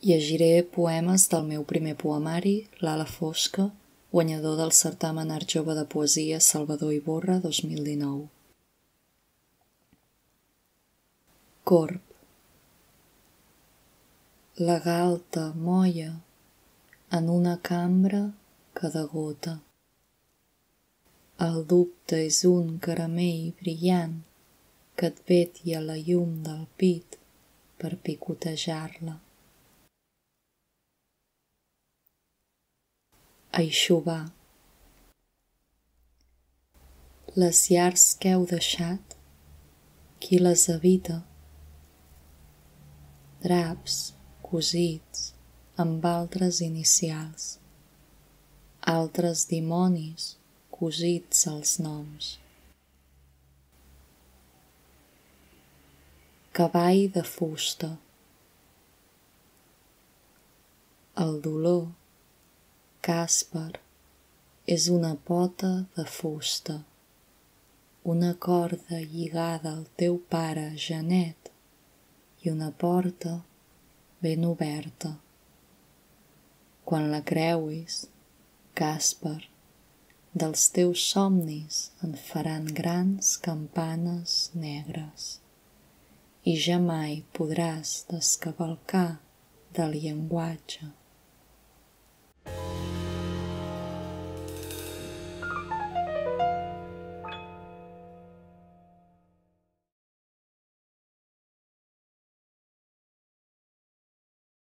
Llegiré poemes del meu primer poemari, L'ala fosca, guanyador del certamen Art Jove de Poesia Salvador Iborra 2019. Corb. La galta molla en una cambra que degota. El dubte és un caramell brillant que et vetlla la llum del pit per picotejar-la. Eixugar. Les llars que heu deixat, qui les habita? Draps cosits amb altres inicials, altres dimonis cosits als noms. Cavall de fusta. El dolor, Càsper, és una pota de fusta, una corda lligada al teu pare Janet i una porta ben oberta. Quan la creuis, Càsper, dels teus somnis en faran grans campanes negres i ja mai podràs descavalcar del llenguatge.